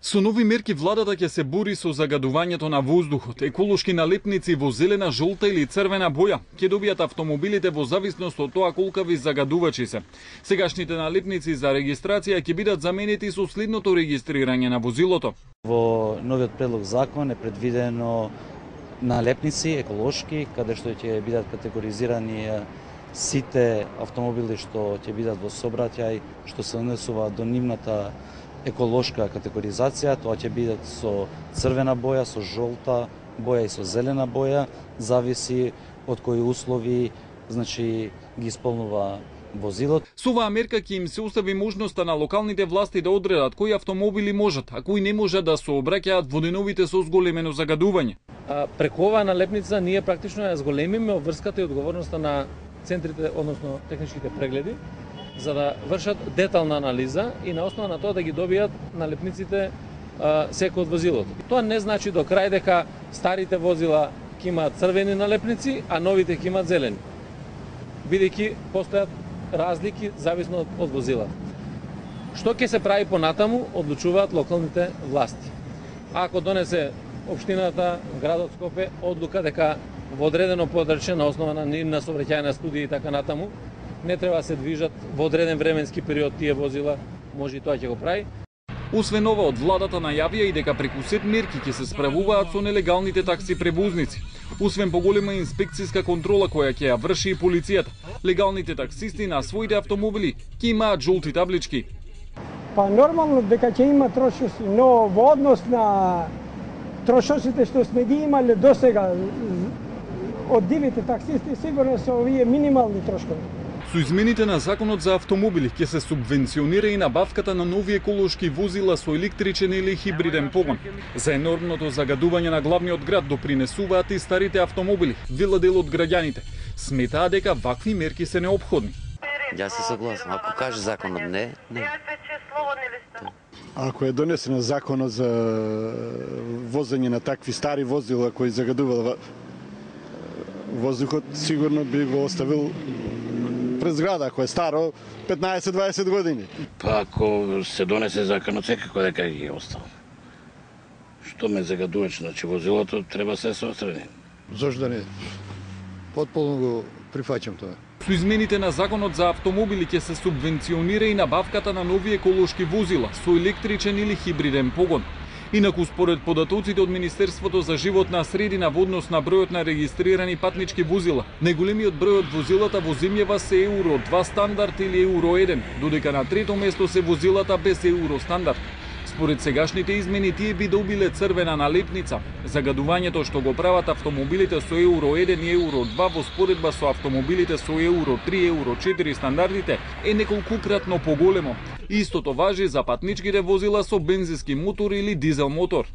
Со нови мерки владата ќе се бори со загадувањето на воздухот. Еколошки налепници во зелена, жолта или црвена боја ќе добијат автомобилите во зависност од тоа колкави загадувачи се. Сегашните налепници за регистрација ќе бидат заменети со следното регистрирање на возилото. Во новиот предлог закон е предвидено налепници еколошки, каде што ќе бидат категоризирани сите автомобили што ќе бидат во сообраќај, што се однесуваат до нивната еколошка категоризација. Тоа ќе бидат со црвена боја, со жолта боја и со зелена боја, зависи од кои услови, ги исполнува возилот. Со оваа мерка ќе им се остави можноста на локалните власти да одредат кои автомобили можат, а кои не можат да сообраќаат во деновите со зголемено загадување. Преку оваа налепница ние практично ја зголемиме обврската и одговорноста на центрите, односно техничките прегледи, за да вршат детална анализа и на основа на тоа да ги добијат налепниците секој од возилото. Тоа не значи до крај дека старите возила ќе имаат црвени налепници, а новите ќе имаат зелени, бидејќи постојат разлики зависно од возилата. Што ќе се прави понатаму, одлучуваат локалните власти. Ако донесе општината, градот Скопје, одлука дека во одредено подрачје на основа на нивна сообраќајна студија и така натаму, не треба да се движат во одреден временски период тие возила, може и тоа ќе го прави. Освен ова, од владата најавија и дека преку сет мерки ќе се справуваат со нелегалните такси превозници. Освен поголема инспекцијска контрола која ќе ја врши и полицијата, легалните таксисти на своите автомобили ќе имаат жолти таблички. Па нормално дека ќе има трошоци, но во однос на трошоците што сме ги имале досега од дивите таксисти, сигурно се овие минимални трошкови. Со измените на законот за автомобили ќе се субвенционира и набавката на нови еколошки возила со електричен или хибриден погон. За енормното загадување на главниот град допринесуваат и старите автомобили, вела дел од граѓаните. Сметаа дека вакви мерки се неопходни. Јас се согласам, ако каже законот не. Ако е донесено законот за возење на такви стари возила кои загадувал воздухот, сигурно би го оставил пред зграда, ако е старо 15-20 години. Па ако се донесе законот, секако дека ги остава. Што ме загадуваш, возилото треба се острани. Зошто не? Потполно го прифаќам тоа. Со измените на законот за автомобили ќе се субвенционира и набавката на нови еколошки возила со електричен или хибриден погон. Инаку, според податоците од Министерството за животна средина во однос на бројот на регистрирани патнички возила, најголемиот број од возилата во земјава се Еуро 2 стандард или Еуро 1, додека на трето место се возилата без Еуро стандард. Според сегашните измени тие би добиле црвена налепница. Загадувањето што го прават автомобилите со Еуро 1 и Еуро 2 во споредба со автомобилите со Еуро 3, Еуро 4 стандардите е неколкукратно поголемо. Истото важи за патничките возила со бензински мотор или дизел мотор.